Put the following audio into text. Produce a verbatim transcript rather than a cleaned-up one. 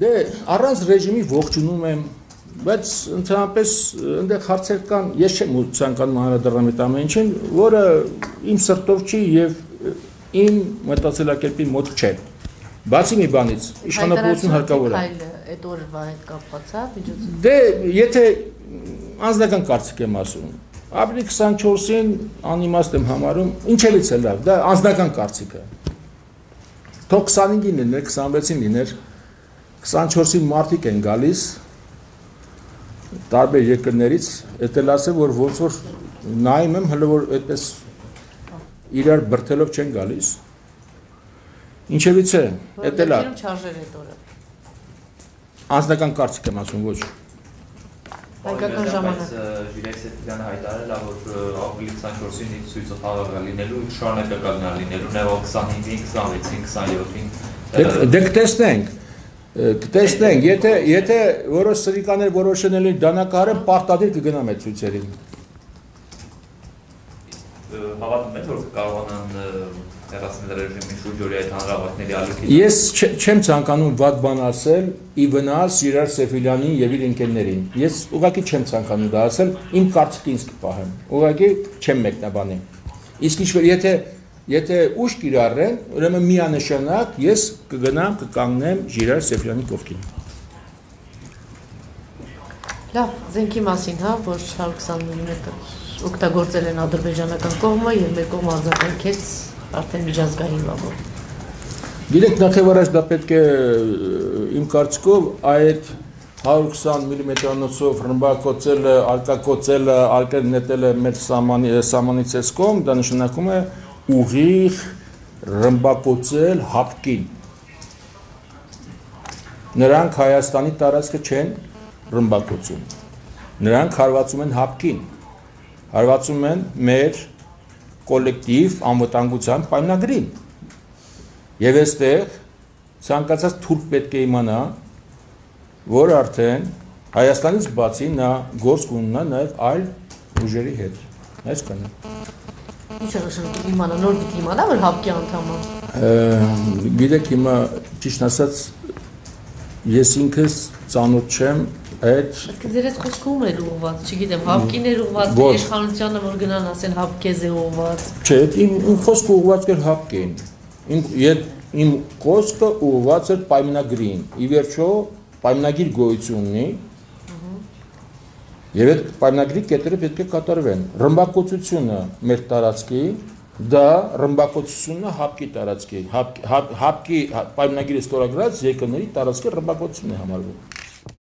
Դե առանց ռեժիմի ողջունում եմ, բայց ընդհանրապես այնտեղ հարցեր կան, ես չեմ ցանկանում անդրադառնալ այդ ամեն ինչին, որը իմ սրտով չի եւ իմ մտածելակերպի մոտ չէ։ Բացի մի բանից, իշխանապողություն հարկավոր է։ Այդ օրվա հետ կապված է միջոցը։ Դե եթե անձնական կարծիք եմ ասում, ապրիլի քսանչորսին անիմաստ եմ համարում, ինչևից է լավ, դա անձնական կարծիք է։ Թող քսանհինգին լիներ, քսանվեցին լիներ, քսանչորսին մարդիկ են գալիս տարբեր երկրներից, այդ էլ ասեմ, որ ոնց որ նայում եմ, հələ որ այդպես իրար բրթելով չեն գալիս։ Ինչևից է, այդ էլ է։ Չարժեր այդ օրը։ Անձնական կարծիք եմ ասում, ոչ։ Հայկական ժամանակ։ Ժիրայր Սեֆիլյանը հայտարարել է, որ ապրիլի քսանչորսին ցույցը խաղաղ լինելու, շարունակական լինելու, նաև քսանհինգին, քսանվեցին, քսաներորդին։ Դե կտեսնենք, կտեսնենք, եթե եթե որոշ սրիկաներ որոշել են դանակահարը պարտադիր կգնամ այդ ցույցերին։ Հավատում եք, որ կարողանան հեռացնել ռեժիմի շուրջօրյա այդ հանրահավաքների ալիքին։ Ես չեմ ցանկանում վատ բան ասել ի վնաս Ժիրայր Սեֆիլյանին եւ իր ընկերներին։ Ես ուղղակի չեմ ցանկանում դա ասել, իմ կարծիքին ինձ կպահեմ։ Ուղղակի չեմ մեկնաբանի։ Իսկ ինչ որ եթե եթե ուշ կիրառեն, ուրեմն միանշանակ ես կգնամ կկանգնեմ Ժիրայր Սեֆիլյանի կողքին։ Լավ, զենքի մասին, հա, որ հարյուր քսան միլիմետր օգտագործել են ադրբեջանական կողմը եւ մեր կողմը արձագանքեց արդեն միջազգային բանով։ Գիտեք, նախ եւ առաջ դա պետք է իմ կարծիքով այդ հարյուր քսան միլիմետրանոցով ռմբակոծելը, արկակոծելը, արկել նետելը մեր սահմանից էս կողմ, դա նշանակում է ուղիղ ռմբակոծել հապկին։ Նրանք Հայաստանի տարածքը չեն ռմբակոծում։ Նրանք հարվածում են հապկին։ Հարվածում են մեր կոլեկտիվ անվտանգության պայմանագրին։ Եվ այստեղ ցանկացած թուրք պետք է իմանա, որ արդեն Հայաստանից բացի նա գործ կունենա նաև այլ ուժերի հետ։ Այսքանը։ Ինչ է նշանակում իմանա, նոր պիտի իմանա, որ հապկի անդամ է։ Գիտեք, հիմա ճիշտ ասած ես ինքս ծանոթ չեմ այդ Ձերս խոսքը ում էր ուղղված, չգիտեմ, հապկին էր ուղղված, իշխանությանը որ գնան ասեն հապկեզ է ուղղված։ Չէ, իմ իմ խոսքը ուղղված էր հապկին։ Իմ իմ խոսքը ուղղված էր պայմանագրին։ Ի վերջո պայմանագիր գոյություն ունի։ Եվ այդ պայմանագրի կետերը պետք է կատարվեն։ Ռմբակոծությունը մեր տարածքի, դա ռմբակոծությունը հապկի տարածքի, հապկի պայմանագիրը ստորագրած երկրների տարածքի ռմբակոծությունն է համարվում։